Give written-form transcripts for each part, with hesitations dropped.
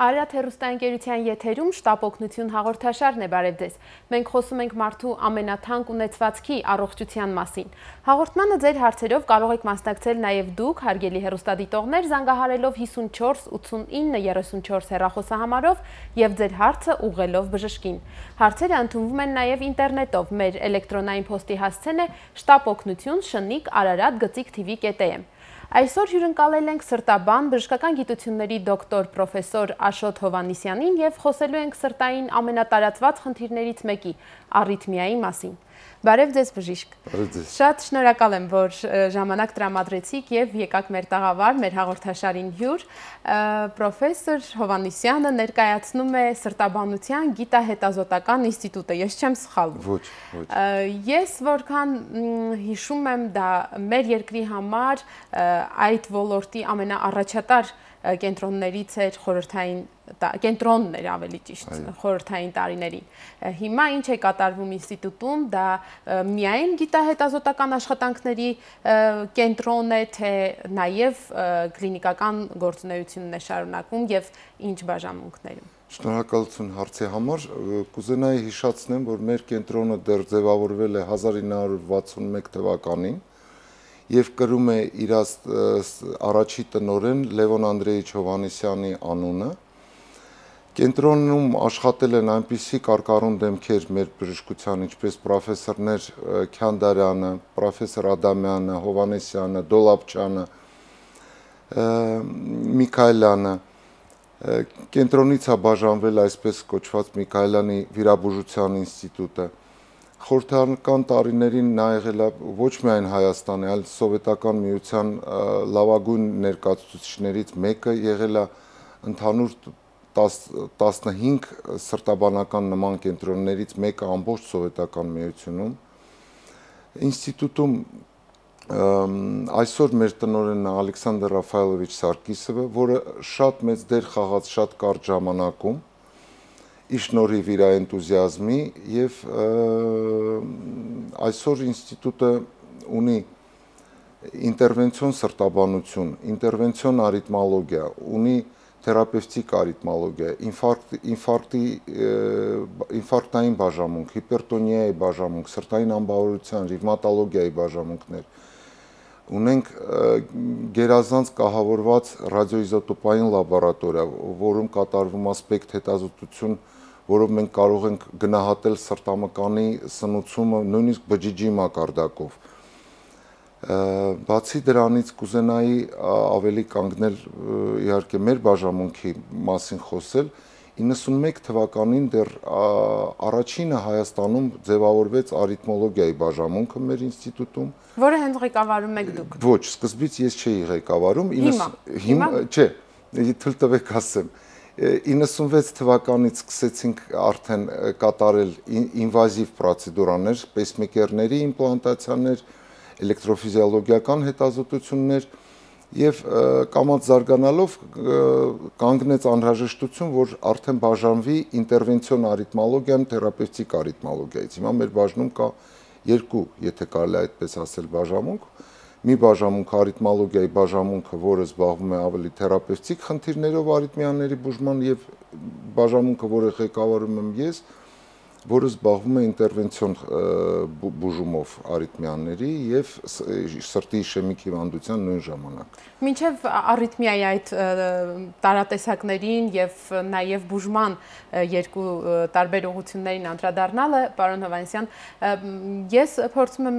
Արարատ հեռուստաընկերության եթերում շտապ օգնություն հաղորդաշարն է, բարև ձեզ։ Մենք խոսում ենք մարդու ամենաթանկ ունեցվածքի առողջության մասին։ Հաղորդմանը ձեր հարցերով կարող եք մասնակցել նաև դուք, հարգելի հեռուստադիտողներ, զանգահարելով 54 89 34 հեռախոսահամարով եւ ձեր հարցը ուղղելով բժշկին։ Հարցերը ընդունվում են նաև ինտերնետով։ Մեր էլեկտրոնային փոստի հասցեն է shtapognutun@ararat.gtv.am։ Այսօր հյուրընկալել ենք սրտաբան բժշկական գիտությունների դոկտոր պրոֆեսոր Աշոտ Հովհաննիսյանին եւ խոսելու ենք սրտային ամենատարածված խնդիրներից մեկի՝ առիթմիայի մասին։ Բարև ձեզ բժիշկ։ Շատ շնորհակալ եմ, որ ժամանակ տրամադրեցիք եւ եկաք մեր տաղավար, մեր հաղորդաշարին հյուր։ Պրոֆեսոր Հովհաննիսյանը ներկայացնում է Սրտաբանության գիտահետազոտական ինստիտուտը, ես չեմ սխալվում։ Ոչ։ Ես որքան հիշում եմ, դա մեր երկրի համար այդ ոլորտի ամենաառաջատար կենտրոններից էր խորհրդային կենտրոնն էր ավելի ճիշտ խորհրդային տարիներին։ Հիմա ինչ է կատարվում ինստիտուտում, դա միայն գիտահետազոտական աշխատանքների կենտրոն է, թե նաև կլինիկական գործունեությունն է շարունակվում եւ ինչ բաժանմունքներում։ Շնորհակալություն հարցի համար։ Կուզենայի հիշեցնեմ, որ մեր կենտրոնը դեռ ձևավորվել է 1961 թվականին եւ կրում է իր առաջի տնօրեն Լևոն Անդրեյիչ Հովհաննիսյանի անունը։ Կենտրոնում աշխատել են այնպիսի կարկառուն դեմքեր մեր բժշկության, ինչպես պրոֆեսորներ Քյանդարյանը, պրոֆեսոր Ադամյանը, Հովհաննիսյանը, Դոլաբչյանը, Միքայելյանը։ Կենտրոնից է բաժանվել այսպես կոչված Միքայելյանի վիրաբուժության ինստիտուտը։ Խորհրդական տարիներին նա եղել է ոչ միայն Հայաստանի, այլ Սովետական միության լավագույն ներկայացուցիչներից մեկը, եղել է ընդհանուր 15 սրտաբանական նման կենտրոններից մեկը ամբողջ Սովետական միությունում։ Ինստիտուտում այսօր մեր տնօրենն է Ալեքսանդր Ռաֆայելովիչ Սարգիսովը, որը շատ մեծ դեր խաղաց շատ կարճ ժամանակում իր շնորհիվ իր էնտուզիազմի եւ այսօր ինստիտուտը ունի ինտերվենցիոն սրտաբանություն, ինտերվենցիոն արիթմոլոգիա, ունի թերապևտիկ արիթմոլոգիա, ինֆարկտային բաժանմունք, հիպերտոնիայի բաժանմունք, սրտային անբավարարության, ռևմատոլոգիայի բաժանմունքներ։ Ունենք գերազանց կահավորված ռադիոիզոտոպային լաբորատորիա, որում կատարվում է սպեկտ հետազոտություն, որով մենք կարող ենք գնահատել սրտամկանի սնուցումը նույնիսկ բջիջի մակարդակով։ Բացի դրանից կուզենայի ավելի կանգնել իհարկե մեր բաժանմունքի մասին խոսել, 91 թվականին դեռ առաջինը Հայաստանում ձևավորվեց արիթմոլոգիայի բաժանմունքը մեր ինստիտուտում, որը հենց ղեկավարում եք դուք։ Ոչ, սկզբից ես չէի ղեկավարում, չէ, թույլ տվեք ասեմ։ 96 թվականից սկսեցինք արդեն կատարել ինվազիվ պրոցեդուրաներ, պեյսմեյքերների իմպլանտացիաներ, էլեկտրոֆիզիոլոգիական հետազոտություններ եւ կամաց զարգանալով կանգնեց անհրաժեշտություն, որ արդեն բաժանվի ինտերվենցիոն արիթմոլոգիան թերապևտիկ արիթմոլոգիայից։ Հիմա մեր բաժնում կա երկու, եթե կարելի է այդպես ասել, բաժանմունք։ Մի բաժանմունք արիթմոլոգիայի բաժանմունքը, որը զբաղվում է ավելի թերապևտիկ խնդիրներով արիթմիաների բուժման եւ բաժանմունքը, որը ղեկավարում եմ ես, որը զբաղվում է ինտերվենցիոն բուժումով արիթմիաների եւ սրտի իշեմիկ հիվանդության նույն ժամանակ։ Մինչև առիթմիայի այդ տարատեսակներին եւ նաեւ բուժման երկու տարբեր ուղղություններին անդրադառնալը, պարոն Հովհաննիսյան, ես փորձում եմ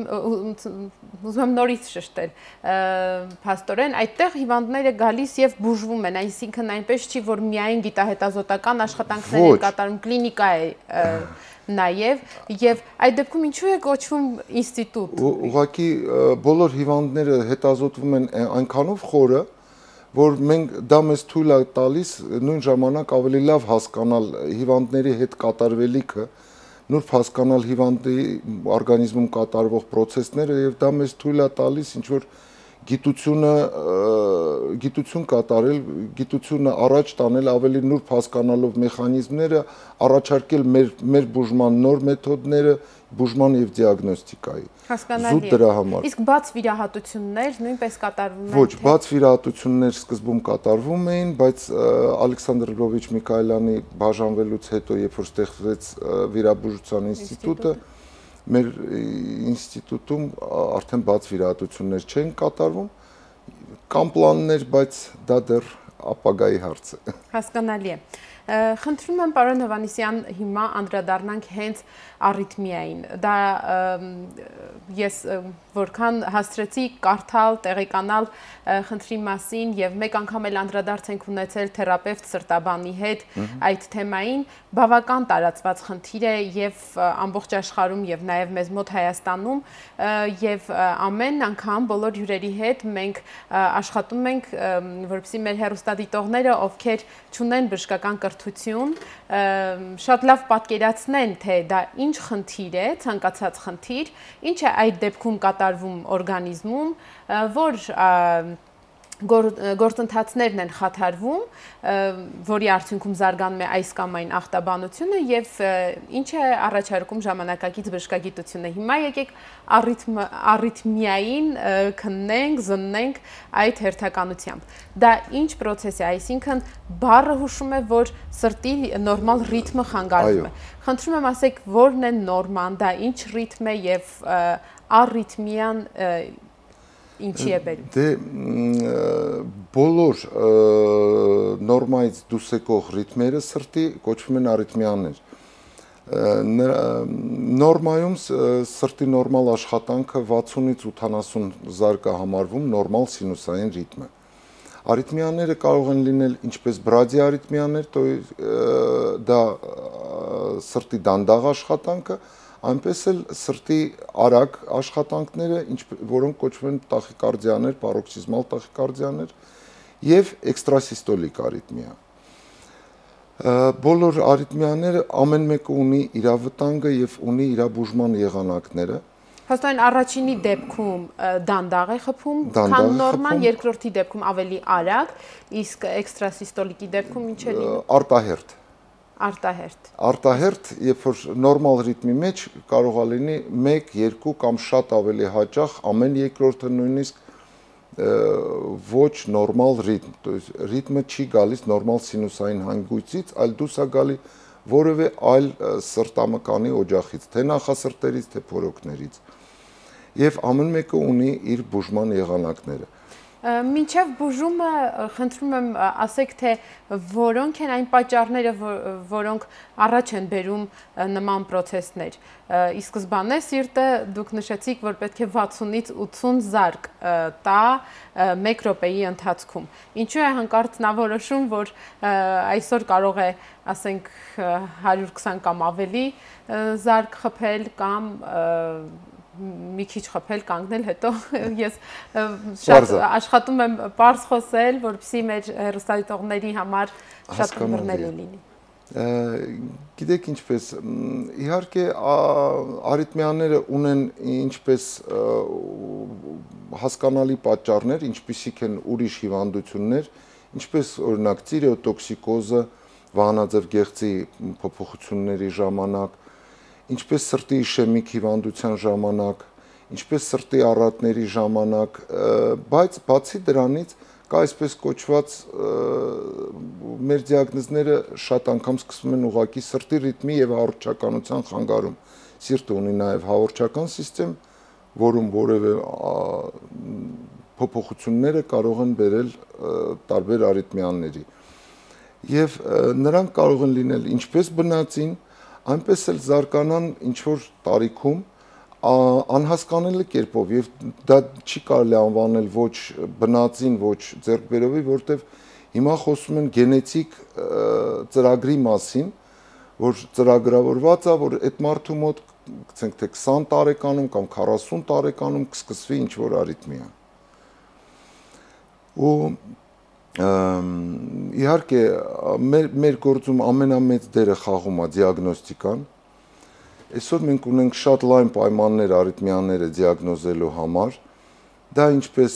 ուզում եմ նորից շեշտել։ Փաստորեն այդտեղ հիվանդները գալիս եւ բուժվում են, այսինքն այնպես չի, որ միայն գիտահետազոտական աշխատանքներ են կատարում, կլինիկա է եւ այդ դեպքում ինչու է կոչվում ինստիտուտ։ Ուղղակի բոլոր հիվանդները հետազոտվում են այնքանով խորը, որ մենք դա մեզ թույլ է տալիս նույն ժամանակ ավելի լավ հասկանալ հիվանդների հետ կատարվելիքը, նուրբ հասկանալ հիվանդի օրգանիզմում կատարվող process-ները եւ դա մեզ թույլ է տալիս ինչ որ գիտություն կատարել, գիտությունը առաջ տանել, ավելի նուրբ հասկանալով մեխանիզմները, առաջարկել մեր բուժման նոր մեթոդները, բուժման եւ դիագնոստիկայի։ Հասկանալի է։ Իսկ բաց վիրահատություններ նույնպես կատարվում են։ Ոչ, բաց վիրահատություններ սկզբում կատարվում էին, բայց Ալեքսանդր Լվովիչ Միքայելյանի բաժանվելուց հետո, երբ որ ստեղծվեց վիրաբուժության ինստիտուտը, մեր ինստիտուտում արդեն բաց վիրահատություններ չեն կատարվում, կան պլաններ, բայց դա դեռ ապագայի հարց է։ Հասկանալի է։ Խնդրում եմ պարոն Հովհաննիսյան հիմա անդրադառնանք հենց առիթմիային։ Դա ես որքան հասցրեցի կարդալ, տեղեկանալ խնդրի մասին եւ մեկ անգամ էլ անդրադարձ ենք ունեցել թերապևտ սրտաբանի հետ այդ թեմային, բավական տարածված խնդիր է եւ ամբողջ աշխարհում եւ նաեւ մեզ մոտ Հայաստանում եւ ամեն անգամ բոլոր հյուրերի հետ մենք աշխատում ենք որպեսզի մեր հեռուստադիտողները, ովքեր չունեն բժշկական կրթություն, շատ լավ պատկերացնեն, թե դա ինչ խնդիր է, ցանկացած խնդիր, ինչ է այդ դեպքում կատարվում օրգանիզմում, որ գործընթացներն են խաթարվում, որի արդյունքում զարգանում է այս կամ այն ախտաբանությունը եւ ինչ է առաջարկում ժամանակակից բժշկագիտությունը։ Հիմա եկեք առիթմիային քննենք, զննենք այդ հերթականությամբ։ Դա ինչ process է, այսինքն բառը հուշում է, որ սրտի նորմալ ռիթմը խանգարվում է։ Խնդրում եմ ասեք, որն է նորման, դա ինչ ռիթմ է եւ առիթմիան ինչի է բերում։ Դե բոլոր նորմայից դուրս եկող ռիթմերը սրտի կոչվում են առիթմիաներ։ Նորմայում սրտի նորմալ աշխատանքը 60-ից 80 զարգ է համարվում նորմալ սինուսային ռիթմը։ Առիթմիաները կարող են լինել ինչպես բրադի առիթմիաներ, դա սրտի դանդաղ աշխատանքը, այնպես էլ սրտի արագ աշխատանքները, որոնք կոչվում են տախիկարդիաներ, պարոքսիզմալ տախիկարդիաներ եւ էքստրասիստոլիկ առիթմիա։ Բոլոր առիթմիաները ամեն մեկը ունի իր վտանգը եւ ունի իր բուժման եղանակները։ Հաստատ առաջինի դեպքում դանդաղ է խփում, քան նորմալ, երկրորդի դեպքում ավելի արագ, իսկ էքստրասիստոլիկի դեպքում ինչ է լինում։ Արտահերթ։ Արտահերթ, երբ որ նորմալ ռիթմի մեջ կարող է լինի 1, 2 կամ շատ ավելի հաճախ ամեն երկրորդը նույնիսկ ոչ նորմալ ռիթմ, то есть ռիթմը չի գալիս նորմալ սինուսային հանգույցից, այլ դուրս է գալի որևէ այլ սրտամկանի օջախից, թե նախասրտերից, թե փորոքներից։ Եվ ամեն մեկը ունի իր բուժման եղանակները։ Մինչև բուժումը խնդրում եմ ասեք, թե որոնք են այն պատճառները, որոնք առաջ են բերում նման process-ներ։ Ի սկզբանե սիրտը դուք նշեցիք, որ պետք է 60-ից 80 զարկ տա 1 րոպեի ընթացքում։ Ինչու է հանկարծ նա որոշում, որ այսօր կարող է, ասենք, 120 կամ ավելի զարկ խփել կամ մի քիչ խփել, կանգնել, հետո ես շատ աշխատում եմ պարզ խոսել, որպեսզի մեր հեռուստադիտողների համար շատ բռնելի լինի։ Գիտեք ինչպես, իհարկե առիթմիաները ունեն ինչպես հասկանալի պատճառներ, ինչպիսիք են ուրիշ հիվանդություններ, ինչպես օրինակ տիրեոտոքսիկոզը, վահանաձև գեղձի փոփոխությունների ժամանակ, ինչպես սրտի իշեմիկ հիվանդության ժամանակ, ինչպես սրտի առատների ժամանակ, բայց բացի դրանից կա այսպես կոչված մեր դիագնոզները շատ անգամ սկսվում են ուղղակի սրտի ռիթմի եւ հաղորդչականության խանգարում։ Սիրտը ունի նաեւ հաղորդչական համակարգ, որում որևէ փոփոխությունները կարող են բերել տարբեր առիթմիաների։ Եվ նրանք կարող են լինել ինչպես բնածին, այնպես էլ զարգանան ինչ-որ տարիքում անհասկանալի կերպով եւ դա չի կարելի անվանել ոչ բնածին, ոչ ձեռքբերովի, որտեվ հիմա խոսում են գենետիկ ծրագրի մասին, որ ծրագրավորված է, որ այդ մարդու մոտ, գցենք թե 20 տարեկանում կամ 40 տարեկանում կսկսվի ինչ-որ առիթմիա։ Ու իհարկե մեր գործում ամենամեծ դերը խաղում է դիագնոստիկան։ Այսօր մենք ունենք շատ լայն պայմաններ առիթմիաները դիագնոզելու համար, Դա ինչպես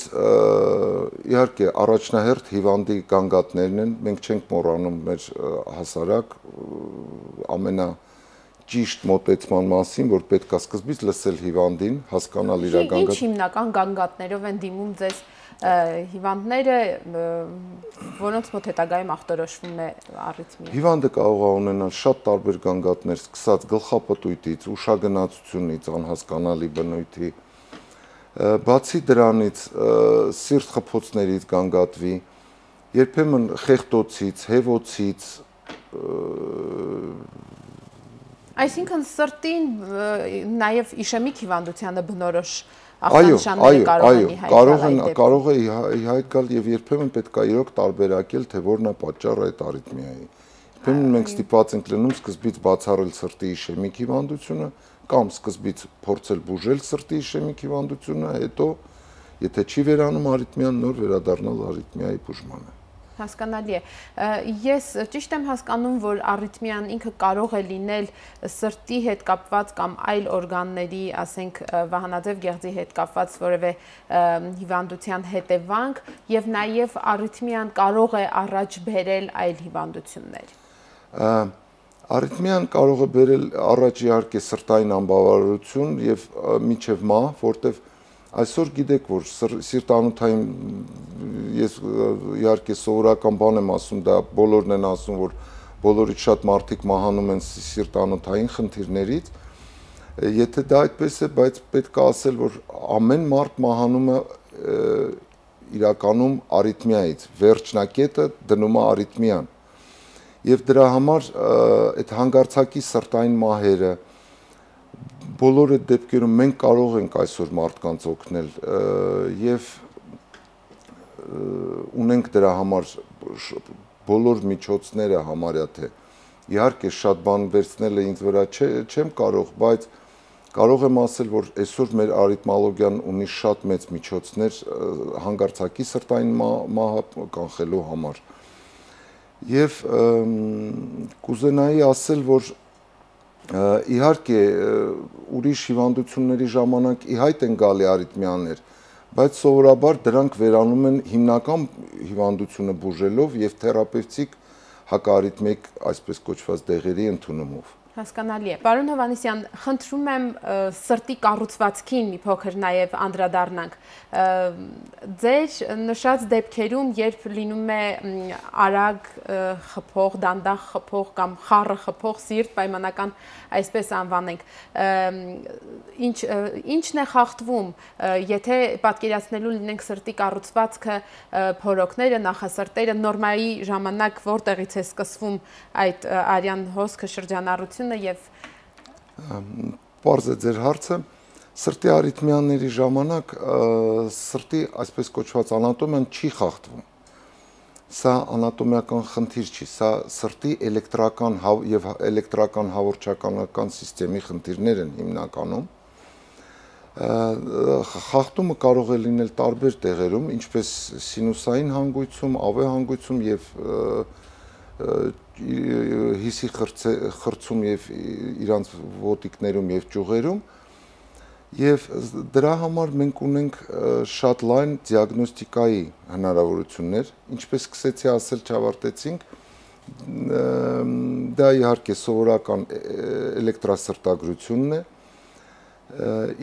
իհարկե առաջնահերթ հիվանդի գանգատներն են, մենք չենք մոռանում մեր հասարակ ամենաճիշտ մոտեցման մասին, որ պետք է սկզբից լսել հիվանդին, հասկանալ իր գանգատը։ Ինչ հիմնական գանգատներով են դիմում ձեզ հիվանդները, որոնց մոտ հետագայում ախտորոշվում է առիթմիա։ Հիվանդը կարող է ունենալ շատ տարբեր գանգատներ, սկսած գլխապտույտից, ուշագնացությունից, անհասկանալի բնույթի, բացի դրանից սիրտ խփոցներից գանգատվի, երբեմն խեղտոցից, հևոցից, այսինքն սրտին նաև իշեմիկ հիվանդությանը բնորոշ ախտանշաններ կարող է ի հայտ գալ եւ երբեմն պետք է իրոք տարբերակել, թե որն է պատճառը այդ արիթմիայի։ Երբեմն մենք ստիպված ենք լինում սկզբից բացառել սրտի իշեմիկ հիվանդությունը կամ սկզբից փորձել բուժել սրտի իշեմիկ հիվանդությունը, հետո եթե չի վերանում արիթմիան, նոր վերադառնալ արիթմիայի բուժմանը։ Հասկանալի է։ Ես ճիշտ եմ հասկանում, որ արիթմիան ինքը կարող է լինել սրտի հետ կապված կամ այլ օրգանների, ասենք վահանաձև գեղձի հետ կապված որևէ հիվանդության հետևանք եւ նաեւ արիթմիան կարող է առաջ բերել այլ հիվանդություններ։ Արիթմիան կարող է բերել առաջ իհարկե սրտային անբավարարություն եւ մինչեւ մահ, որտեւ այսօր գիտեք, որ սիրտանոթային ես իհարկե սովորական բան եմ ասում, դա բոլորն են ասում, որ բոլորից շատ մարդիկ մահանում են սիրտանոթային խնդիրներից։ Եթե դա այդպես է, բայց պետք է ասել, որ ամեն մարդ մահանում է իրականում արիթմիայից, վերջնակետը դնում է արիթմիան։ Եվ դրա համար այդ հանգարցակի սրտային մահերը բոլոր այդ դեպքերում մենք կարող ենք այսօր մարդկանց օգնել եւ ունենք դրա համար բոլոր միջոցները համարյա թե իհարկե շատ բան վերցնել է ինձ վրա չեմ կարող, բայց կարող եմ ասել, որ այսօր մեր արիթմոլոգիան ունի շատ մեծ միջոցներ հանգարցակի սրտային մահը կանխելու համար։ Եվ կուզենայի ասել, որ իհարկե ուրիշ հիվանդությունների ժամանակ ի հայտ են գալի արիթմիաներ, բայց սովորաբար դրանք վերանում են հիմնական հիվանդությունը բուժելով եւ թերապևտիկ հակարիթմիկ այսպես կոչված դեղերի ընդունումով։ Հասկանալի է։ Պարոն Հովհաննիսյան, խնդրում եմ սրտի կառուցվածքին մի փոքր նաև անդրադառնանք։ Ձեր նշած դեպքերում, երբ լինում է արագ խփող, դանդաղ խփող կամ խառը խփող սիրտ, պայմանական այսպես անվանենք, ինչն է խախտվում, եթե պատկերացնելու լինենք սրտի կառուցվածքը, փորոքները, նախասրտերը, նորմայի ժամանակ որտեղից է սկսվում այդ արյան հոսքը, շրջանառությունը եւ Պարզ է ձեր հարցը, սրտի արիթմիաների ժամանակ սրտի այսպես կոչված անատոմիան չի խախտվում։ Սա անատոմիական խնդիր չի, սա սրտի էլեկտրական եւ էլեկտրական հաղորդչականական համակարգի խնդիրներ են հիմնականում։ Խախտումը կարող է լինել տարբեր տեղերում, ինչպես սինուսային հանգույցում, ԱՎ հանգույցում եւ հիսի խրցում եւ իրանց ոտիկներում եւ ճյուղերում եւ դրա համար մենք ունենք շատ լայն դիագնոստիկայի հնարավորություններ, ինչպես սկսեցի ասել, չավարտեցինք, դա իհարկե սովորական էլեկտրասրտագրությունն է,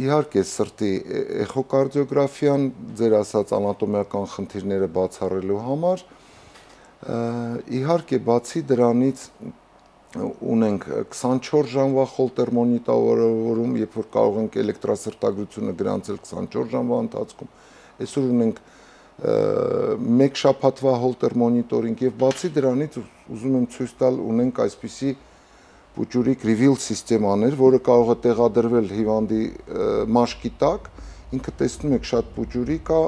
իհարկե սրտի էխոկարդիոգրաֆիան, ձեր ասած անատոմիական խնդիրները բացառելու համար, իհարկե բացի դրանից ունենք 24 ժամվա խոլտեր մոնիտորավորում, երբ որ կարող ենք էլեկտրասրտագրությունը գրանցել 24 ժամվա ընթացքում, այսօր ունենք մեկ շաբաթվա հոլտեր մոնիտորինգ եւ բացի դրանից ուզում եմ ցույց տալ ունենք այսպիսի բուջուրիկ reveal սիստեմաներ, որը կարող է տեղադրվել հիվանդի մաշկի տակ, ինքը տեսնում եք շատ բուջուրիկ է,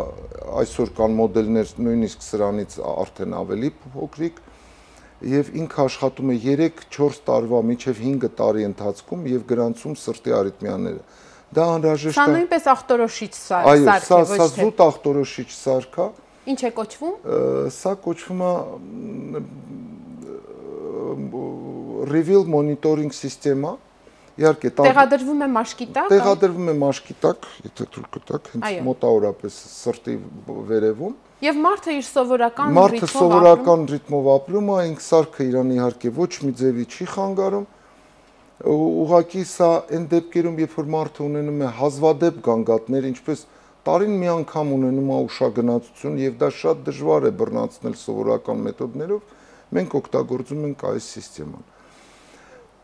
այսօր կան մոդելներ նույնիսկ սրանից արդեն ավելի փոքրիկ եւ ինքը աշխատում է 3-4 տարվա մինչեւ 5 տարի ընթացքում եւ գրանցում սրտի արիթմիաները։ Դա անհրաժեշտ է։ Սա նույնպես ախտորոշիչ սարք է, ոչ թե։ Սա զուտ ախտորոշիչ սարք է։ Ինչ է կոչվում։ Սա կոչվում է reveal monitoring սիստեմա, Իհարկե, տեղադրվում է մաշկի տակ։ Տեղադրվում է մաշկի տակ, եթե թույլ կտաք, հենց մոտավորապես սրտի վերևում։ Եվ մարդը իր սովորական ռիթմով ապրում է, ինք սարքը իրան իհարկե ոչ մի ձևի չի խանգարում։ Ուղղակի սա այն դեպքերում, երբ որ մարդը ունենում է հազվադեպ գանգատներ, ինչպես տարին մի անգամ ունենում է ուշագնացություն, եւ դա շատ դժվար է բռնացնել սովորական մեթոդներով, մենք օգտագործում ենք այս սիստեման։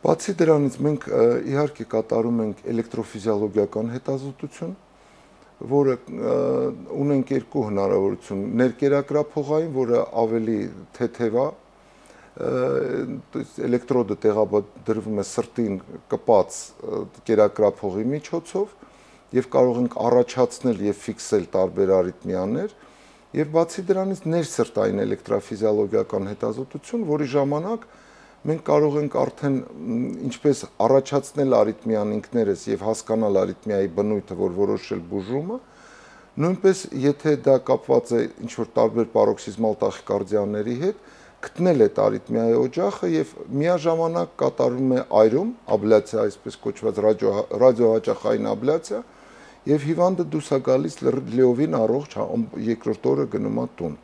Բացի դրանից մենք իհարկե կատարում ենք էլեկտրոֆիզիոլոգիական հետազոտություն, որը ունենք երկու հնարավորություն՝ ներկերակրափողային, որը ավելի թեթև է, էլեկտրոդը տեղադրվում է սրտին կպած կերակրափողի միջոցով եւ կարող ենք առաջացնել եւ ֆիքսել տարբեր արիթմիաներ, եւ բացի դրանից ներսրտային էլեկտրոֆիզիոլոգիական հետազոտություն, որի ժամանակ մենք կարող ենք արդեն ինչպես առաջացնել արիթմիան ինքներս եւ հասկանալ արիթմիայի բնույթը, որ որոշել բուժումը, նույնպես եթե դա կապված է ինչ-որ տարբեր պարոքսիզմալ տախիկարդիաների հետ, գտնել այդ արիթմիայի օջախը եւ միաժամանակ կատարվում է այրում, աբլյացիա, այսպես կոչված ռադիոհաճախային աբլյացիա, եւ հիվանդը դուրս է գալիս լիովին առողջ, երկրորդ օրը գնում է տուն։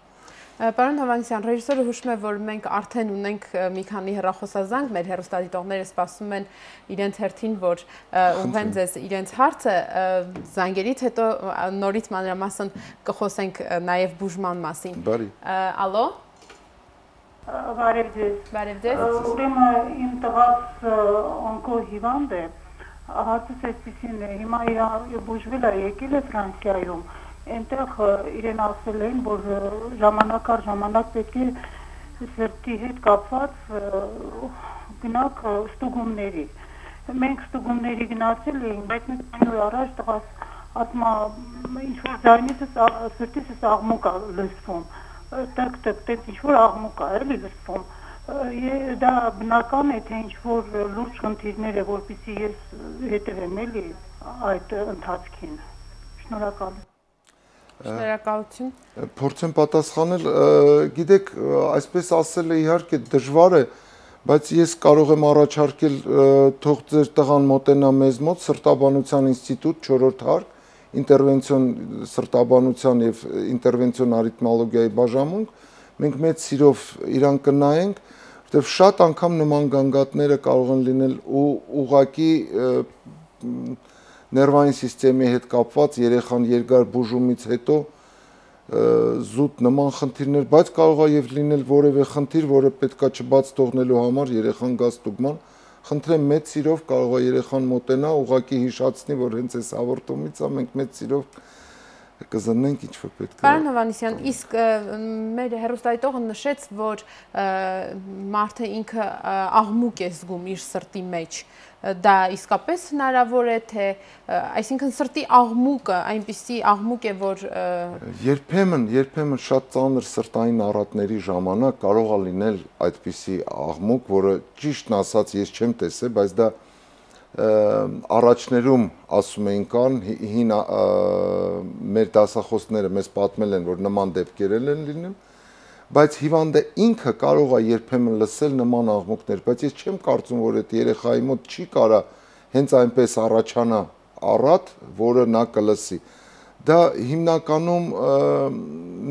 Պարոն Հովհաննիսյան, ռեժիսորը հուշում է, որ մենք արդեն ունենք մի քանի հեռախոսազանգ, մեր հեռուստադիտողները սպասում են իրենց հերթին, որ ուղղեն ձեզ իրենց հարցը, զանգերից հետո նորից մանրամասն կխոսենք նաև բուժման մասին։ Բարի։ Ալո։ Բարև ձեզ։ Բարև ձեզ։ Ուրեմն իմ տղաս օնկո հիվանդ է, հարցս այսպիսին է, հիմա իր բուժվել է, եկել է Ֆրանսիայում, այնտեղ իրեն ասել են, որ ժամանակ առ ժամանակ պետք է սրտի հետ կապված գնաք ստուգումների։ Մենք ստուգումների գնացել էինք, բայց մեկ քանի օր առաջ տղաս ասում է ինչ-որ ձայնից սրտից աղմուկ է լսվում, տկ-տկ, տենց ինչ-որ աղմուկ է էլի լսվում։ Դա բնական է, թե ինչ-որ լուրջ խնդիրներ է, որպեսզի ես հետևեմ էլի այդ ընթացքին։ Շնորհակալ։ Շնորհակալություն։ Փորձեմ պատասխանել, գիտեք, այսպես ասելը իհարկե դժվար է, բայց ես կարող եմ առաջարկել թող ձեր տղան մոտենա մեզ մոտ սրտաբանության ինստիտուտ 4-րդ հարկ, ինտերվենցիոն սրտաբանության եւ ինտերվենցիոն արիթմոլոգիայի բաժանմունք, մենք մեծ սիրով իրան կնայենք, որտեղ շատ անգամ նման գանգատները կարող են լինել ուղղակի ներվային սիստեմի հետ կապված երեխան երկար բուժումից հետո զուտ նման խնդիրներ, բայց կարող է եւ լինել որևէ խնդիր, որը պետքա չբաց թողնելու համար երեխան գա ստուգման։ Խնդրեմ մեծ սիրով կարող է երեխան մոտենա, ուղղակի հիշացնի, որ հենց այս հաղորդումից է մենք մեծ սիրով կզննենք ինչ որ պետք է։ Պարոն Հովհաննիսյան, իսկ մեր հեռուստադիտողը նշեց, որ մարդը ինքը աղմուկ է զգում իր սրտի մեջ։ Դա իսկապես հնարավոր է, թե այսինքն սրտի աղմուկը այնպիսի աղմուկ է, որ երբեմն շատ ծանր սրտային առատների ժամանակ կարող է լինել այդպիսի աղմուկ, որը ճիշտն ասած ես չեմ տեսել, բայց դա առաջներում ասում էին կան հին մեր դասախոսները մեզ պատմել են, որ նման դեպքեր են լինում, բայց հիվանդը ինքը կարող է երբեմն լսել նման աղմուկներ, բայց ես չեմ կարծում, որ այդ երեխայի մոտ չի կարա հենց այնպես առաջանա առատ, որը նա կլսի։ Դա հիմնականում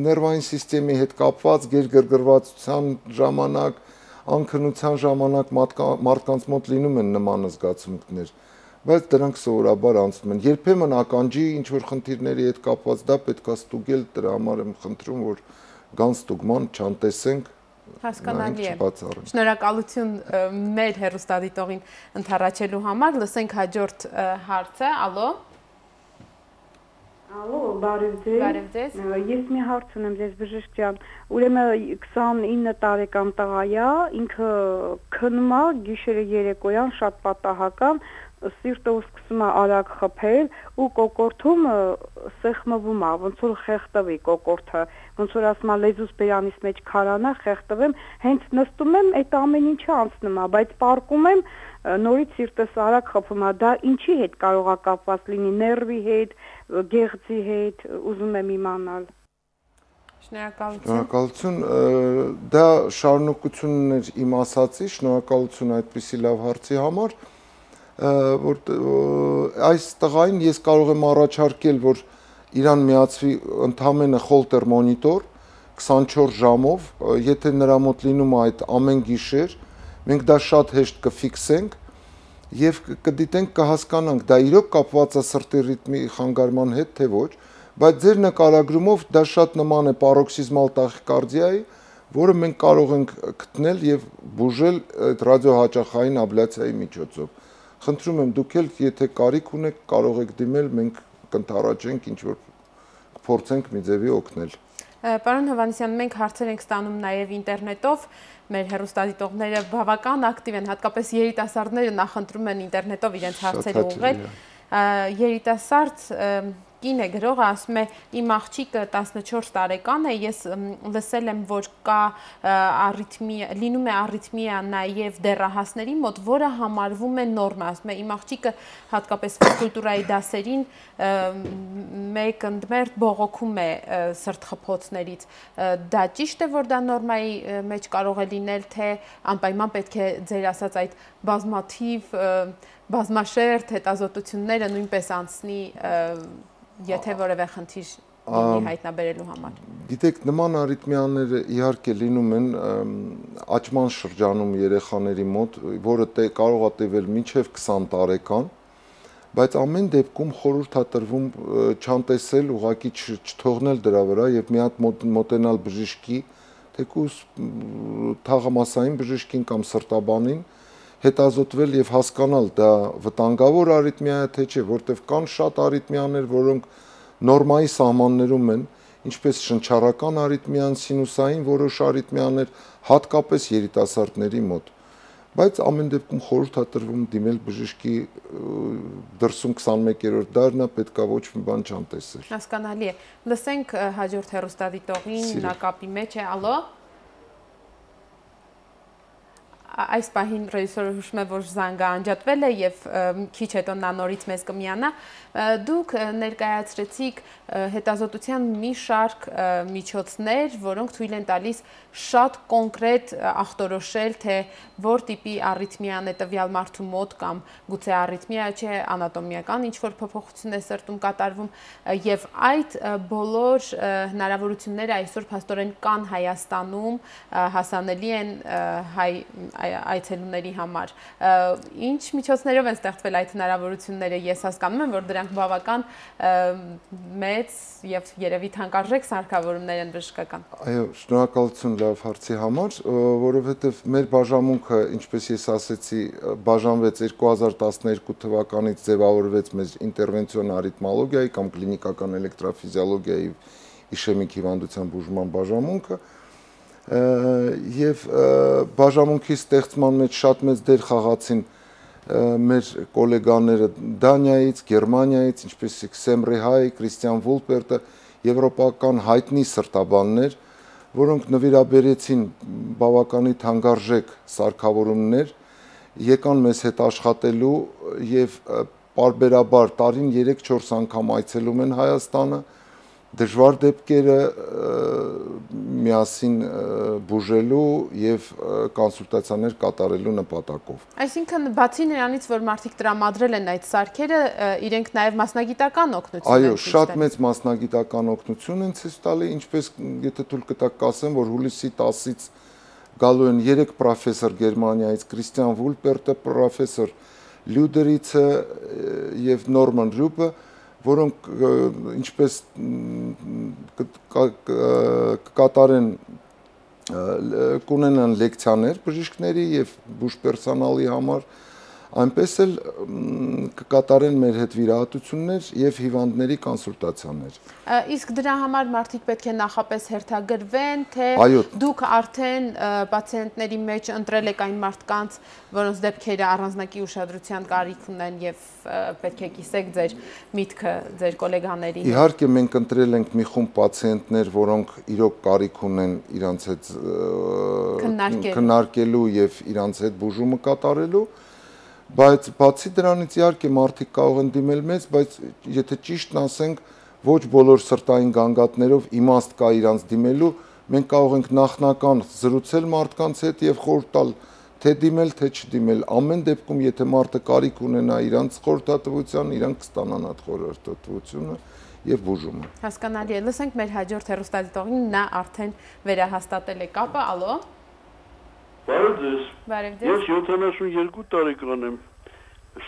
ներվային սիստեմի հետ կապված գերգրգռվածության ժամանակ անքնության ժամանակ մարդկանց մոտ լինում են նման զգացմունքներ, բայց դրանք սովորաբար անցնում են։ Երբեմն ականջի ինչ-որ խնդիրների հետ կապված դա պետք է ստուգել, դրա համար եմ խնդրում, որ գան ստուգման, չանտեսենք, հասկանալի է։ Շնորհակալություն մեր հեռուստադիտողին ընդառաջելու համար, լսենք հաջորդ հարցը, ալո։ Ալո, բարև ձեզ։ Բարև ձեզ։ Ես մի հարց ունեմ ձեզ բժիշկ ջան։ Ուրեմն 29 տարեկան տղա է, ինքը քնում է գիշերը երեկոյան շատ պատահական, սիրտը սկսում է արագ խփել ու կոկորթում սեղմվում է, ոնց որ խեղդվի կոկորթը, ոնց որ ասում է լեզուս բերանից մեջ քարանա, խեղդվեմ, հենց նստում եմ, այդ ամեն ինչը անցնում է, բայց պարկում եմ, նորից սիրտս արագ խփում է, դա ինչի հետ կարող է կապված լինի, ներվի հետ, գեղձի հետ, ուզում եմ իմանալ։ Շնորհակալություն։ Դա շարունակությունն էր իմ ասացի, շնորհակալություն այդպիսի լավ հարցի համար։ որ այս տղային ես կարող եմ առաջարկել, որ իրան միացվի ընդամենը խոլտեր մոնիտոր 24 ժամով, եթե նրա մոտ լինում է այդ ամեն գիշեր, մենք դա շատ հեշտ կֆիքսենք եւ կդիտենք, կհասկանանք դա իրոք կապված է սրտի ռիթմի խանգարման հետ, թե ոչ, բայց ձեր նկարագրումով դա շատ նման է պարոքսիզմալ տախիկարդիայի, որը մենք կարող ենք գտնել եւ բուժել այդ ռադիոհաճախային աբլյացիայի միջոցով։ Խնդրում եմ դուք էլ, եթե կարիք ունեք, կարող եք դիմել, մենք կընթառաջենք, ինչ որ կփորձենք մի ձևի օգնել։ Պարոն Հովհաննիսյան, մենք հարցեր ենք ստանում նաև ինտերնետով, մեր հեռուստադիտողները բավական ակտիվ են, հատկապես երիտասարդները նախընտրում են ինտերնետով իրենց հարցերը ուղղել։ Երիտասարդ կին է գրողը ասում է, իմ աղջիկը 14 տարեկան է, ես լսել եմ, որ կա լինում է առիթմիա նաև դեռահասների մոտ, որը համարվում է նորմա, ասում է, իմ աղջիկը հատկապես ֆիզկուլտուրայի դասերին մեկ ընդմերթ բողոքում է սրտխփոցներից, դա ճիշտ է, որ դա նորմայի մեջ կարող է լինել, թե անպայման պետք է ձեր ասած այդ բազմաշերտ հետազոտությունները նույնպես անցնի եթե որևէ խնդիր լինի հայտնաբերելու համար։ Գիտեք, նման արիթմիաները իհարկե լինում են աճման շրջանում երեխաների մոտ, որը կարող է տևել մինչև 20 տարեկան, բայց ամեն դեպքում խորհուրդ է տրվում չանտեսել, ուղղակի չթողնել դրա վրա եւ մի հատ մոտենալ բժշկի, թեկուզ թաղամասային բժշկին կամ սրտաբանին, հետազոտվել եւ հասկանալ դա վտանգավոր արիթմիա է թե չէ, որտեղ կան շատ արիթմիաներ, որոնք նորմայի սահմաններում են, ինչպես շնչառական արիթմիան, սինուսային որոշ արիթմիաներ, հատկապես երիտասարդների մոտ։ Բայց ամեն դեպքում խորհուրդ է տրվում դիմել բժշկի դրսում 21-րդ դարն է, պետքա ոչ մի բան չանտեսել։ Հասկանալի է։ Լսենք հաջորդ հեռուստադիտողին, նա կապի մեջ է, ալո։ Այս պահին ռեժիսորը հուշում է, որ զանգը անջատվել է եւ քիչ հետո նա նորից մեզ կմիանա։ Դուք ներկայացրեցիք հետազոտության մի շարք միջոցներ, որոնք թույլ են տալիս շատ կոնկրետ ախտորոշել, թե որ տիպի առիթմիան է տվյալ մարդու մոտ կամ գուցե առիթմիա չէ, անատոմիական ինչ-որ փոփոխություն է սրտում կատարվում եւ այդ բոլոր հնարավորությունները այսօր փաստորեն կան Հայաստանում, հասանելի են հայ այցելուների համար։ Ինչ միջոցներով են ստեղծվել այդ հնարավորությունները, ես հասկանում եմ, որ դրանք բավական մեծ եւ երևի թանկարժեք սարքավորումներ են բժշկական։ Այո, շնորհակալություն լավ հարցի համար, որովհետեւ մեր բաժանմունքը, ինչպես ես ասեցի, բաժանվեց 2012 թվականից ձևավորվեց մեր ինտերվենցիոն արիթմոլոգիայի կամ կլինիկական էլեկտրոֆիզիոլոգիայի իշեմիկ հիվանդության բուժման բաժանմունքը եւ բաժանմունքի ստեղծման մեջ շատ մեծ դեր խաղացին մեր գոլեգաները Դանիայից, Գերմանիայից, ինչպես Սեմրե Հայ, Կրիստիան Վուլպերտը, եվրոպական հայտնի սրտաբաններ, որոնք նվիրաբերեցին բավականին թանկարժեք սարքավորումներ, եկան մեզ հետ աշխատելու եւ պարբերաբար տարին 3-4 անգամ այցելում են Հայաստանը, դժվար դեպքերը միասին բուժելու եւ կոնսուլտացիաներ կատարելու նպատակով։ Այսինքն բացի նրանից, որ մարդիկ տրամադրել են այդ սարքերը, իրենք նաեւ մասնագիտական օգնություն են ցույց տալիս։ Այո, շատ մեծ մասնագիտական օգնություն են ցույց տալի, ինչպես եթե թույլ կտակ կասեմ, որ հուլիսի 10-ից գալու են 3 պրոֆեսոր Գերմանիայից, Կրիստիան Վուլպերտը, պրոֆեսոր Լյուդերիցը եւ Նորման Ռյուպը, որոնք ինչպես կկատարեն կունենան լեկցիաներ բժիշկների եւ բուժպերսոնալի համար, այնպես էլ կկատարեն մեր հետ վիրահատություններ եւ հիվանդների կոնսուլտացիաներ։ Իսկ դրա համար մարդիկ պետք է նախապես հերթագրվեն, թե դուք արդեն պացիենտների մեջ ընտրել եք այն մարդկանց, որոնց դեպքերը առանձնակի ուշադրության կարիք ունեն եւ պետք է կիսեք ձեր միտքը ձեր գոլեգաների։ Իհարկե մենք ընտրել ենք մի խումբ պացիենտներ, որոնք իրոք կարիք ունեն իրանց հետ քննարկելու եւ իրանց հետ բուժումը կատարելու, բայց բացի դրանից իհարկե մարդիկ կարող են դիմել մեզ, բայց եթե ճիշտն ասենք, ոչ բոլոր սրտային գանգատներով իմաստ կա իրանց դիմելու, մենք կարող ենք նախնական զրուցել մարդկանց հետ եւ խորհուրդ տալ թե դիմել, թե չդիմել, ամեն դեպքում եթե մարդը կարիք ունենա իրանց խորհրդատվության, իրանք կստանան այդ խորհրդատվությունը եւ բուժումը։ Հասկանալի է։ Լսենք մեր հաջորդ հեռուստադիտողին, նա արդեն վերահաստատել է կապը, ալո։ Բարև ձեզ։ Բարև ձեզ։ Ես 72 տարեկան եմ։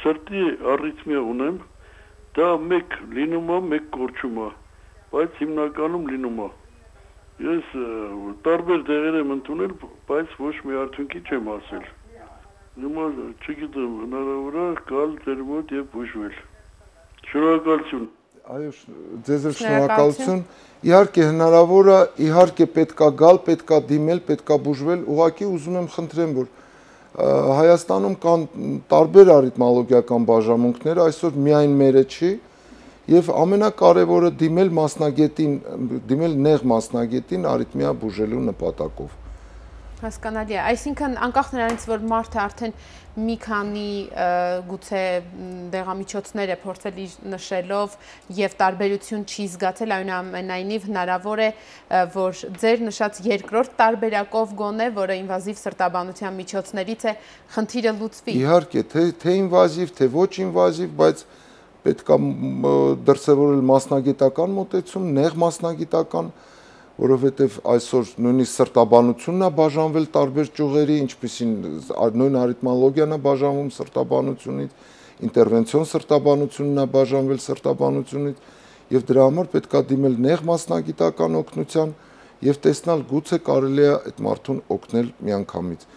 Սրտի առիթմիա ունեմ։ Դա մեկ լինում է, մեկ կորչում է, բայց հիմնականում լինում է։ Ես տարբեր դեղեր եմ ընդունել, բայց ոչ մի արդյունքի չեմ հասել։ Հիմա չգիտեմ, հնարավոր է գալ ձեր մոտ եւ բուժվել։ Շնորհակալություն։ Այո, ձեզ շնորհակալություն։ Իհարկե հնարավոր է, իհարկե պետքա գալ, պետքա դիմել, պետքա բուժվել, ուղղակի ուզում եմ խնդրեմ, որ Հայաստանում կան տարբեր արիթմոլոգիական բաժանմունքներ, այսօր միայն մերը չի, եւ ամենակարևորը դիմել մասնագետին, դիմել նեղ մասնագետին արիթմիա բուժելու նպատակով։ Հասկանալի է, այսինքն անկախ նրանից, որ մարդը արդեն մի քանի գուցե դեղամիջոցներ է փորձել իր նշելով եւ տարբերություն չի զգացել, այնուամենայնիվ հնարավոր է, որ ձեր նշած երկրորդ տարբերակով գոնե, որը ինվազիվ սրտաբանության միջոցներից է, խնդիրը լուծվի։ Իհարկե, թե ինվազիվ, թե ոչ ինվազիվ, բայց պետք է դրսևորել մասնագիտական մոտեցում, նեղ մասնագիտական, որովհետև այսօր նույնիսկ սրտաբանությունն է բաժանվել տարբեր ճյուղերի, ինչպիսին նույն արիթմոլոգիան է բաժանվում սրտաբանությունից, ինտերվենցիոն սրտաբանությունն է բաժանվել սրտաբանությունից, եւ դրա համար պետք է դիմել նեղ մասնագիտական օգնության եւ տեսնել գուցե կարելի է այդ մարդուն օգնել միանգամից։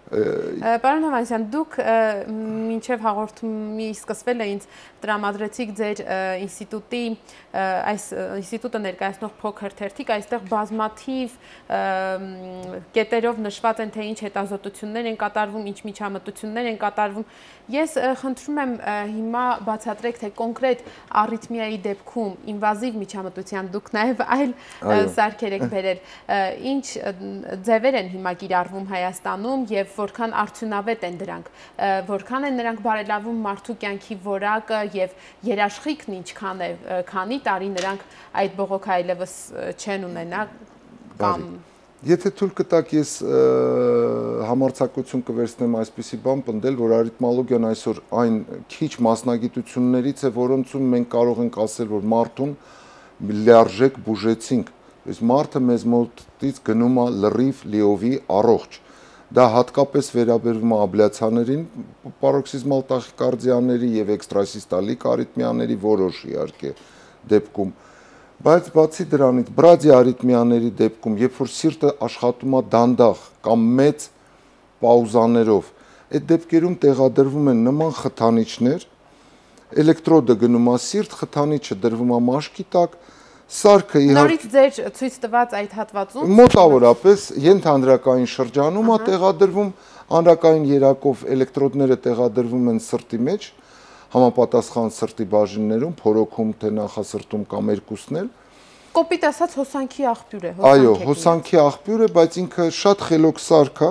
Պարոն Հովհաննիսյան, դուք մինչև հաղորդումի սկսվելը ինձ տրամադրեցիք ձեր ինստիտուտի, այս ինստիտուտը ներկայացնող փոքր թերթիկ, այստեղ բազմաթիվ կետերով նշված են, թե ինչ հետազոտություններ են կատարվում, ինչ միջամտություններ են կատարվում։ Ես խնդրում եմ հիմա բացատրեք, թե կոնկրետ առիթմիայի դեպքում ինվազիվ միջամտության դուք նաև այլ սարքեր եք բերել, ինչ ձևեր են հիմա կիրառվում Հայաստանում եւ որքան արդյունավետ են դրանք, որքան են նրանք բարելավում մարդու կյանքի որակը եւ երաշխիքն ինչքան է, քանի տարի նրանք այդ բողոքը այլևս չեն ունենա կամ Եթե թույլ կտաք, ես համարձակություն կվերցնեմ այսպիսի բան պնդել, որ արիթմոլոգիան այսօր այն քիչ մասնագիտություններից է, որոնցում մենք կարող ենք ասել, որ մարդուն լիարժեք բուժեցինք, իսկ մարդը մեզ մոտից գնում է լրիվ լիովի առողջ։ Դա հատկապես վերաբերվում է աբլյացիաներին, պարոքսիզմալ տախիկարդիաների եւ էքստրասիստոլիկ արիթմիաների որոշ իհարկե դեպքում։ Բայց բացի դրանից, բրադի արիթմիաների դեպքում, երբ որ սիրտը աշխատում է դանդաղ կամ մեծ պաուզաներով, այդ դեպքերում տեղադրվում են նման խթանիչներ, էլեկտրոդը գնում է սիրտ, խթանիչը դրվում է մաշկի տակ, սարքը Նորից ձեր ցույց տված այդ հատվածում մոտավորապես ենթանրակային շրջանում է տեղադրվում, անրակային երակով էլեկտրոդները տեղադրվում են սրտի մեջ, համապատասխան սրտի բաժիններում, փորոքում, թե նախասրտում կամ երկուսն էլ։ Կոպիտ ասած հոսանքի աղբյուր է, Այո, հոսանքի աղբյուր է, բայց ինքը շատ խելոք սարք է,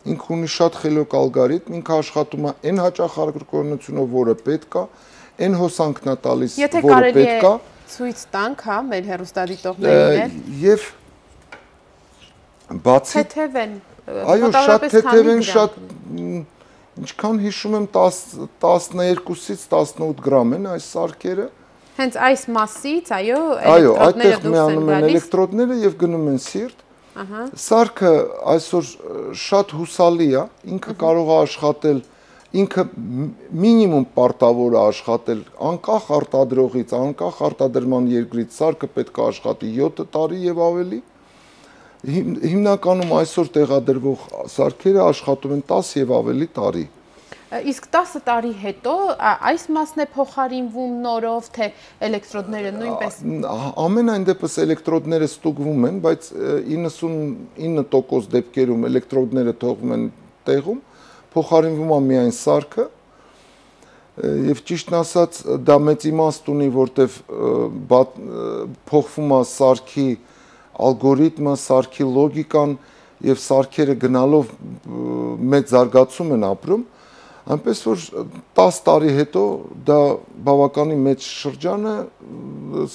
ինքը ունի շատ խելոք ալգորիթմ, ինքը աշխատում է այն հաճախարկությունով, որը պետք է, այն հոսանքն է տալիս, որը պետք է։ Ցույց տանք, հա, մեր հեռուստադիտողներին եւ բացի թեթև են, այո, շատ թեթև են, շատ ինչքան հիշում եմ 12-ից 18 գրամ են այս սարքերը։ Հենց այս մասից, այո, այդտեղ միանում են էլեկտրոդները եւ գնում են սիրտ։ Սարքը այսօր շատ հուսալի է, ինքը կարող է աշխատել, ինքը մինիմում պարտավոր է աշխատել անկախ արտադրողից, անկախ արտադրման երկրից, սարքը պետք է աշխատի 7 տարի եւ ավելի։ Հիմնականում այսօր տեղադրվող սարքերը աշխատում են 10 եւ ավելի տարի։ Իսկ 10 տարի հետո այս մասն է փոխարինվում նորով, թե էլեկտրոդները նույնպես։ Ամենայն դեպս էլեկտրոդները ստուգվում են, բայց 99% դեպքերում էլեկտրոդները թողվում են տեղում, փոխարինվում է միայն սարքը։ Եվ ճիշտն ասած, դա մեծ իմաստ ունի, որտեվ փոխվում է սարքի ալգորիթմը, սարքի լոգիկան եւ սարքերը գնալով մեծ զարգացում են ապրում, այնպես որ 10 տարի հետո դա բավականին մեծ շրջան է,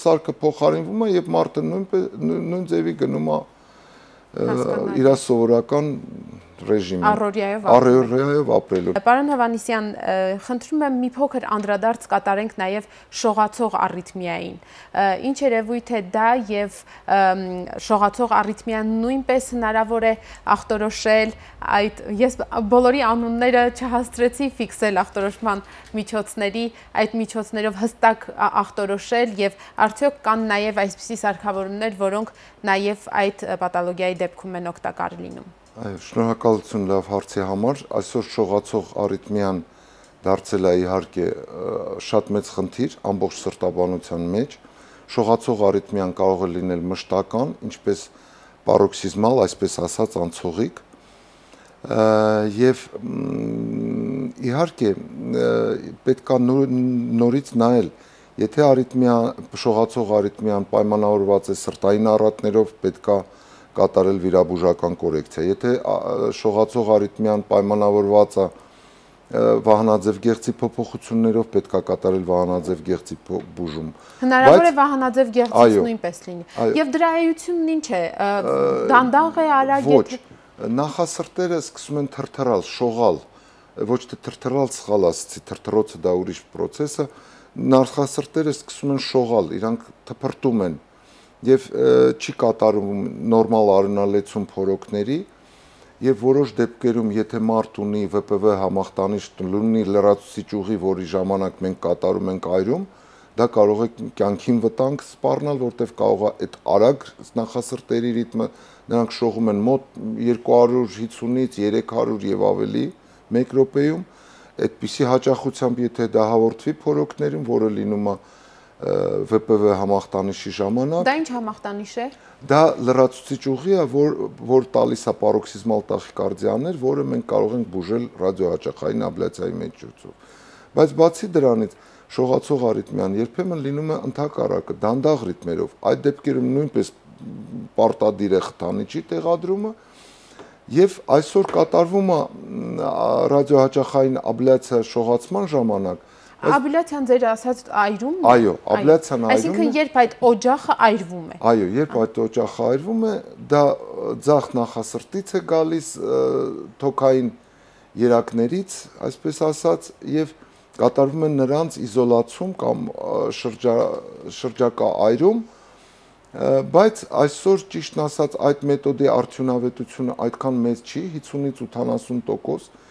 սարքը փոխարինվում է եւ մարդը նույն ձևի գնում է իր սովորական ռեժիմին, առօրյայով ապրելու։ Պարոն Հովհաննիսյան, խնդրում եմ մի փոքր անդրադարձ կատարենք նաև շողացող առիթմիային։ Ինչ երևույթ է դա եւ շողացող առիթմիան նույնպես հնարավոր է ախտորոշել, ես բոլորի անունները չհասցրեցի ֆիքսել ախտորոշման միջոցների, այդ միջոցներով հստակ ախտորոշել եւ արդյոք կան նաև այսպիսի սարքավորումներ, որոնք նաև այդ պաթոլոգիայի դեպքում են օգտակար լինում։ Այո, շնորհակալություն լավ հարցի համար։ Այսօր շողացող առիթմիան դարձել է իհարկե շատ մեծ խնդիր ամբողջ սրտաբանության մեջ։ Շողացող առիթմիան կարող է լինել մշտական, ինչպես պարոքսիզմալ, այսպես ասած, անցողիկ։ Եվ իհարկե պետք է նորից նայել, եթե շողացող առիթմիան պայմանավորված է սրտային առատներով, պետք է կատարել վիրաբուժական կորեկցիա։ Եթե շողացող առիթմիան պայմանավորված է վահանաձև գեղձի փոփոխություններով, պետք է կատարել վահանաձև գեղձի բուժում։ Հնարավոր է վահանաձև գեղձից նույնպես լինի։ Եվ դրա էությունն ինչ է։ Դանդաղ է, արագ է։ Ոչ, նախասրտերը սկսում են թրթռալ, շողալ, ոչ թե թրթռալ, սխալ ասացի, թրթռոցը դա ուրիշ process է, նախասրտերը սկսում են շողալ, իրանք թփրտում են եւ չի կատարում նորմալ արյունալեցում փորոքների եւ որոշ դեպքերում եթե մարդ ունի ՎՊՎ համախտանիշ, ունի լրացուցիչ ուղի, որի ժամանակ մենք կատարում ենք այրում, դա կարող է կյանքին վտանգ սպառնալ, որտեղ կարող է այդ արագ նախասրտերի ռիթմը, նրանք շողում են մոտ 250-ից 300 եւ ավելի 1 րոպեում, այդպիսի հաճախությամբ եթե դա հաղորդվի փորոքներին, որը լինում է ՎՊՎ համախտանիշի ժամանակ։ Դա ինչ համախտանիշ է։ Դա լրացուցիչ ուղի է, որ տալիս է պարոքսիզմալ տախիկարդիաներ, որը մենք կարող ենք բուժել ռադիոհաճախային աբլյացիայի միջոցով։ Բայց բացի դրանից շողացող առիթմիան երբեմն լինում է ընդհակառակը, դանդաղ ռիթմերով։ Այդ դեպքերում նույնպես պարտադիր է խթանիչի տեղադրումը եւ այսօր կատարվում է ռադիոհաճախային աբլյացիա շողացման ժամանակ։ Աբլյացիան ձեր ասած այրումն է։ Այո, աբլյացիան այրում է։ Այսինքն երբ այդ օջախը այրվում է։ Այո, երբ այդ օջախը այրվում է, դա ձախ նախասրտից է գալիս, թոքային երակներից, այսպես ասած, եւ կատարվում է նրանց իզոլացում կամ շրջակա այրում, բայց այսօր ճիշտն ասած այդ մեթոդի արդյունավետությունը այդքան մեծ չի, 50-ից 80%։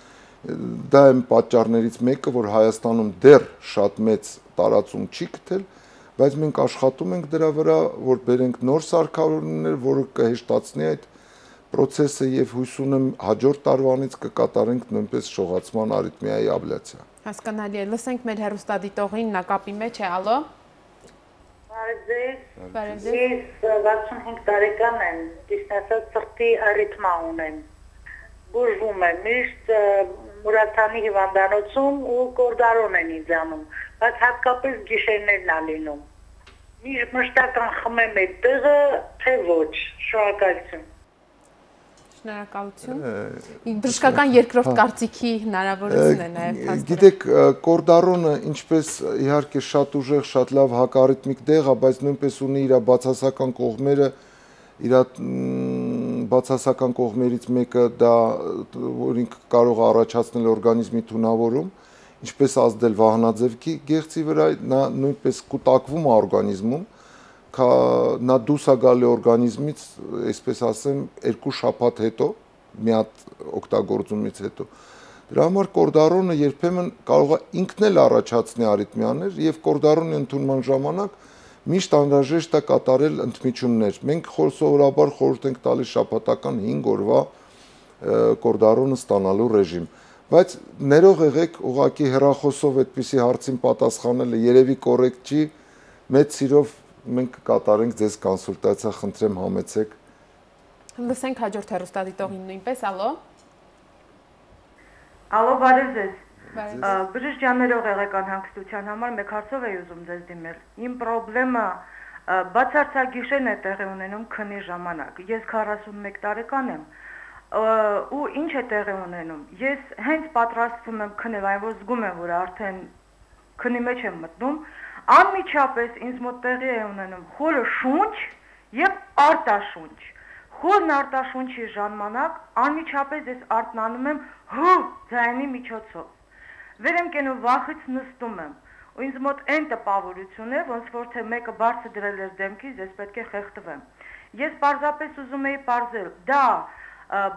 Դա է պատճառներից մեկը, որ Հայաստանում դեռ շատ մեծ տարածում չի գտել, բայց մենք աշխատում ենք դրա վրա, որ բերենք նոր սարքավորումներ, որը կհեշտացնի այդ process-ը եւ հույս ունեմ հաջորդ տարվանից կկատարենք նույնպես շողացման արիթմիայի աբլյացիա։ Հասկանալի է, լսենք մեր հեռուստադիտողին, նա կապի մեջ է, ալո։ Բարև ձեզ։ Ես 65 տարեկան եմ, ճիշտ ասած սրտի արիթմա ունեմ։ Բուժվում եմ միշտ Մուրացանի հիվանդանոցում ու կորդարոն են ինձ անում, բայց հատկապես գիշերներն է լինում։ Մշտական խմեմ այդ տեղը, թե ոչ, շնորհակալություն։ Շնորհակալություն։ Բժշկական երկրորդ կարծիքի հնարավորություն է նաև հասնել։ Գիտեք, կորդարոնը ինչպես իհարկե շատ ուժեղ, շատ լավ հակառիթմիկ տեղ է, բայց նույնպես ունի իր բացասական կողմերը, իր բացասական կողմերից մեկը դա որ ինքը կարող է առաջացնել օրգանիզմի թունավորում, ինչպես ազդել վահանաձև գեղձի վրա, նա նույնպես կուտակվում է օրգանիզմում, նա դուրս է գալի օրգանիզմից, այսպես ասեմ, 2 շաբաթ հետո, մի հատ օգտագործումից հետո։ Դրա համար կորդարոնը երբեմն կարող է ինքն էլ առաջացնի արիթմիաներ եւ կորդարոնի ընդունման ժամանակ միշտ անհրաժեշտ է կատարել ընդմիջումներ։ Մենք սովորաբար խորհուրդ ենք տալիս շաբաթական 5 օրվա կորդարոնը ստանալու ռեժիմ։ Բայց ներող եղեք, ուղղակի հեռախոսով այդպիսի հարցին պատասխանելը երևի կոռեկտ չի, մեծ սիրով մենք կկատարենք ձեզ կոնսուլտացիա, խնդրեմ համեցեք։ Լսենք հաջորդ հեռուստադիտողին նույնպես, ալո։ Ալո, բարև ձեզ։ Բժիշկ ջան, ներող եղեք անհանգստության համար, մեկ հարցով էի ուզում ձեզ դիմել։ Իմ խնդրեմը բացարձակ գիշերն է տեղի ունենում քնի ժամանակ։ Ես 41 տարեկան եմ։ Ու ինչ է տեղի ունենում։ Ես հենց պատրաստվում եմ քնել, այն որ զգում եմ, որ արդեն քնի մեջ եմ մտնում, անմիջապես ինձ մոտ տեղի է ունենում խորը շունչ եւ արտաշունչ։ խորն արտաշունչի ժամանակ անմիջապես ես արթնանում եմ հ ձայնի միջոցով։ Վեր եմ կենում վախից նստում եմ։ Ու ինձ մոտ այն տպավորություն է, ոնց որ թե մեկը բարձր դրել էր դեմքից, ես պետք է խեղդվեմ։ Ես պարզապես ուզում էի պարզել, դա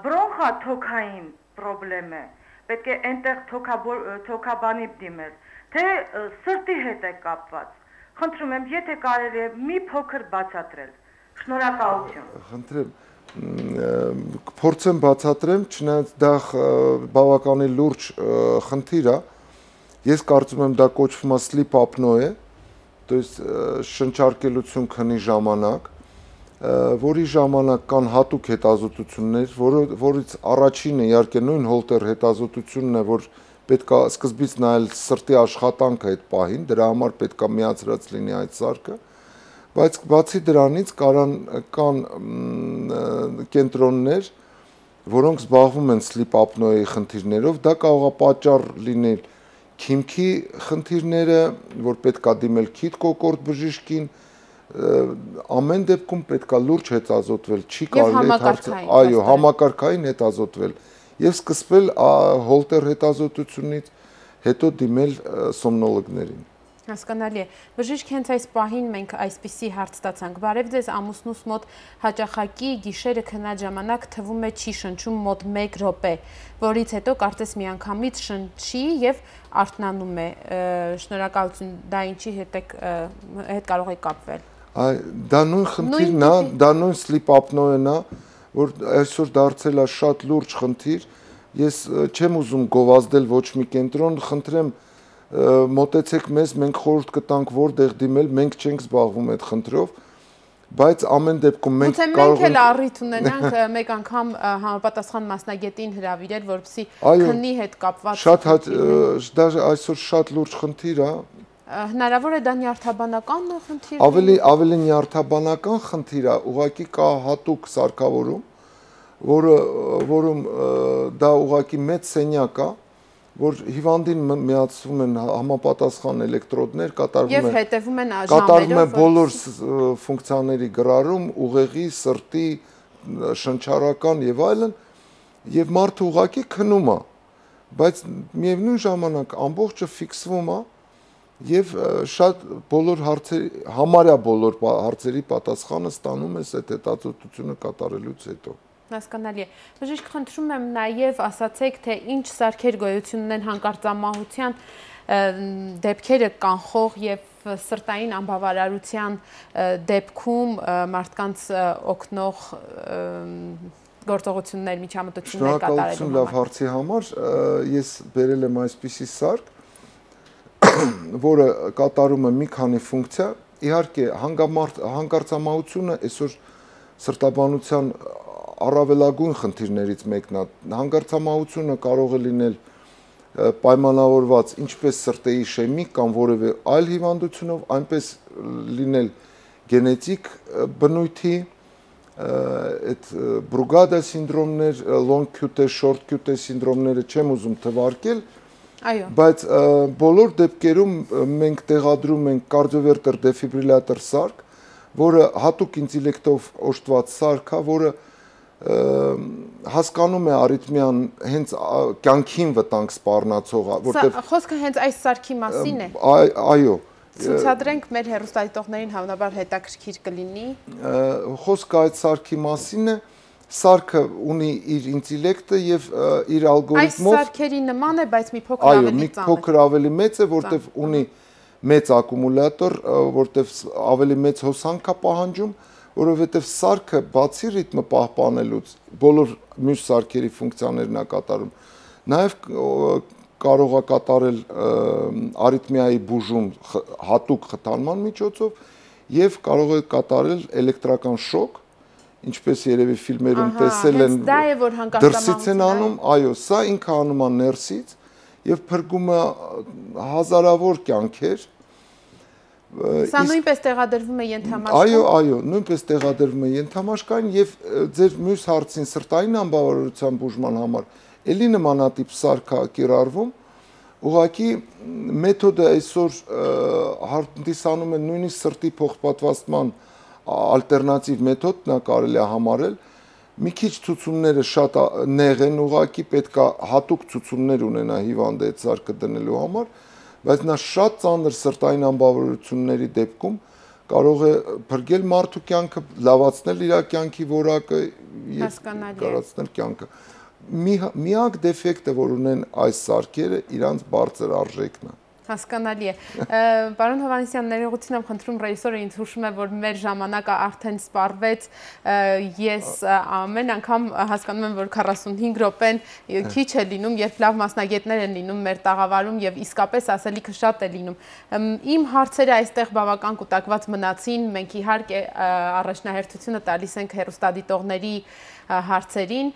բրոնխաթոքային պրոբլեմ է, պետք է այնտեղ թոքաբանի դիմել, թե սրտի հետ է կապված։ Խնդրում եմ, եթե կարելի է մի փոքր բացատրել։ Շնորհակալություն։ Խնդրեմ, փորձեմ բացատրեմ, չնայած դա բավականին լուրջ խնդիր է։ Ես կարծում եմ դա կոչվում է sleep apnoe, то есть շնչարկելություն քնի ժամանակ, որի ժամանակ կան հատուկ հետազոտություններ, որից առաջինը իհարկե նույն Հոլտեր հետազոտությունն է, որ պետք է սկզբից նայել սրտի աշխատանքը այդ պահին, դրա համար պետք է միացրած լինի այդ սարքը, բայց բացի դրանից կան կենտրոններ, որոնք զբաղվում են sleep apnoe-ի խնդիրներով, դա կարող է պատճառ լինել քիմքի խնդիրները, որ պետք է դիմել քիթ կոկորդ բժիշկին, ամեն դեպքում պետք է լուրջ հետազոտվել, չի կարելի համակարգային հետազոտվել եւ սկսվել Հոլտեր հետազոտությունից, հետո դիմել սոմնոլոգներին։ Հասկանալի է։ Բժիշկ, հենց այս պահին մենք այսպիսի հարց ստացանք. Բարև ձեզ, ամուսնուս մոտ հաճախակի գիշերը քնած ժամանակ թվում է չի շնչում մոտ 1 րոպե, որից հետո կարծես միանգամից շնչի եւ արթնանում է։ Շնորհակալություն, դա ինչի հետ կարող է կապվել։ Դա նույն խնդիրն է, դա նույն sleep apnoe-ն է, որ այսօր դարձել է շատ լուրջ խնդիր։ Ես չեմ ուզում գովազդել ոչ մի կենտրոն, խնդրեմ մոտեցեք մեզ, մենք խորհուրդ կտանք որտեղ դիմել, մենք չենք զբաղվում այդ խնդրով, բայց ամեն դեպքում մենք կարող ենք առիթ ունենանք մեկ անգամ համապատասխան մասնագետին հրավիրել, որպեսզի քնի հետ կապված դա այսօր շատ լուրջ խնդիր է։ Հնարավոր է դա նյարդաբանական խնդիր։ Ավելի նյարդաբանական խնդիր է, ուղղակի կա հատուկ սարքավորում, որում դա ուղղակի մեծ սենյակ է, որ հիվանդին միացվում են համապատասխան էլեկտրոդներ, կատարվում է բոլոր ֆունկցիաների գրառում, ուղեղի, սրտի, շնչառական եւ այլն, եւ մարդը ուղղակի քնում է, բայց միևնույն ժամանակ ամբողջը ֆիքսվում է եւ շատ համարյա բոլոր հարցերի պատասխանը ստանում ես այդ հետազոտությունը կատարելուց հետո։ Հասկանալի է։ Բժիշկ, խնդրում եմ նաև ասացեք, թե ինչ սարքեր գոյություն ունեն հանկարծամահության դեպքերը կանխող եւ սրտային անբավարարության դեպքում մարդկանց օգնող գործողություններ, միջամտություններ կատարելու համար։ Շնորհակալություն լավ հարցի համար։ Ես բերել եմ այսպիսի սարք, որը կատարում է մի քանի ֆունկցիա։ Իհարկե, հանկարծամահությունը այսօր սրտաբանության առավելագույն խնդիրներից մեկն է։ Հանկարծամահությունը կարող է լինել պայմանավորված ինչպես սրտի իշեմիկ կամ որևէ այլ հիվանդությունով, այնպես լինել գենետիկ բնույթի, այդ Բրուգադա սինդրոմներ, long QT, short QT սինդրոմները չեմ ուզում թվարկել, բայց բոլոր դեպքերում մենք տեղադրում ենք կարդիովերտեր դեֆիբրիլյատոր սարք, որը հատուկ ինտելեկտով օժտված սարք է, որը հասկանում է արիթմիան հենց կյանքին վտանգ սպառնացող, որտեղ խոսքը հենց այս սարքի մասին է։ Այո։ Ցուցադրենք մեր հեռուստադիտողներին հավանաբար հետաքրքիր կլինի։ Խոսքը այդ սարքի մասին է, սարքը ունի իր ինտելեկտը եւ իր ալգորիթմով։ Այս սարքերի նման է, բայց մի փոքր ավելի ծանր։ Այո, մի փոքր ավելի մեծ է, որտեղ ունի մեծ ակումուլյատոր, որտեղ ավելի մեծ հոսանք է պահանջում, որովհետև սարքը բացի ռիթմը պահպանելուց բոլոր մյուս սարքերի ֆունկցիաներն է կատարում, նաև կարող է կատարել արիթմիայի բուժում հատուկ խթանման միջոցով եւ կարող է կատարել էլեկտրական շոկ, ինչպես երևի ֆիլմերում տեսել են, դրսից են անում, այո, սա ինքը անում է ներսից եւ փրկում է հազարավոր կյանքեր։ Սա նույնպես տեղադրվում է ենթամաշկային։ Այո, նույնպես տեղադրվում է ենթամաշկային եւ ձեր մյուս հարցին սրտային անբավարարության բուժման համար էլի նմանատիպ սարք է կիրառվում, ուղղակի մեթոդը այսօր հանդիսանում է նույնիսկ սրտի փոխպատվաստման ալտերնատիվ մեթոդ, նա կարելի է համարել, մի քիչ ցուցումները շատ նեղ են, ուղղակի պետք է հատուկ ցուցումներ ունենա հիվանդը այդ սարքը դնելու համար, բայց նա շատ ծանր սրտային անբավարարությունների դեպքում կարող է փրկել մարդու կյանքը, լավացնել իր կյանքի որակը եւ կարացնել կյանքը։ Միակ դեֆեկտը, որ ունեն այս սարքերը, իրանց բարձր արժեքն է։ Հասկանալի է։ Պարոն Հովհաննիսյան, ներողություն եմ խնդրում, ռեժիսորը ինձ հուշում է, որ մեր ժամանակը արդեն սպառվեց, ես ամեն անգամ հասկանում եմ, որ 45 րոպեն քիչ է լինում, երբ լավ մասնագետներ են լինում մեր տաղավարում եւ իսկապես ասելիքը շատ է լինում։ Իմ հարցերը այստեղ բավական կուտակված մնացին, մենք իհարկե առաջնահերթությունը տալիս ենք հեռուստադիտողների հարցերին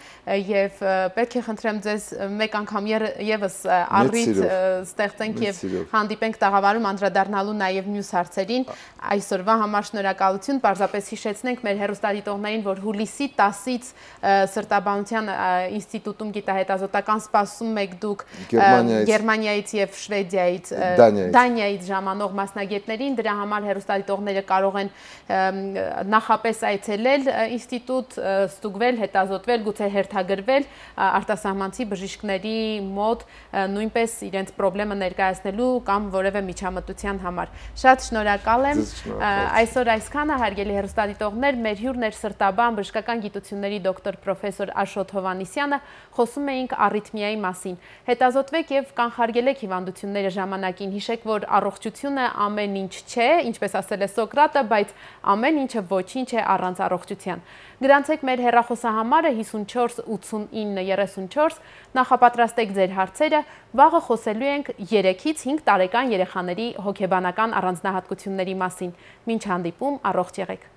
եւ պետք է խնդրեմ ձեզ մեկ անգամ եւս առիթ ստեղծենք եւ հանդիպենք տաղավարում անդրադառնալու նաեւ մյուս հարցերին։ Այսօրվա համար շնորհակալություն, պարզապես հիշեցնենք մեր հեռուստադիտողներին, որ հուլիսի 10-ից Սրտաբանության ինստիտուտում գիտահետազոտական սպասում եք դուք Գերմանիայից եւ Շվեդիայից, Դանիայից ժամանող մասնագետներին, դրա համար հեռուստադիտողները կարող են նախապես այցելել ինստիտուտ, ստուգվել, հետազոտվել, գուցե հերթագրվել արտասահմանցի բժիշկների մոտ նույնպես իրենց խնդրը ներկայացնելու կամ որևէ միջամտության համար։ Շատ շնորհակալ եմ։ Այսօր այսքանը, հարգելի հեռուստադիտողներ, մեր հյուրն էր սրտաբան բժշկական գիտությունների դոկտոր պրոֆեսոր Աշոտ Հովհաննիսյանը, խոսում էինք առիթմիայի մասին։ Հետազոտվեք եւ կանխարգելեք հիվանդությունները ժամանակին, հիշեք, որ առողջությունը ամեն ինչ չէ, ինչպես ասել է Սոկրատը, բայց ամեն ինչը ոչինչ է առանց առողջության։ Գրանցեք մեր հեռախոսահամարը 54 89 34, նախապատրաստեք ձեր հարցերը, վաղը խոսելու ենք 3-ից 5 տարեկան երեխաների հոգեբանական առանձնահատկությունների մասին։ Մինչ հանդիպում, առողջ եղեք։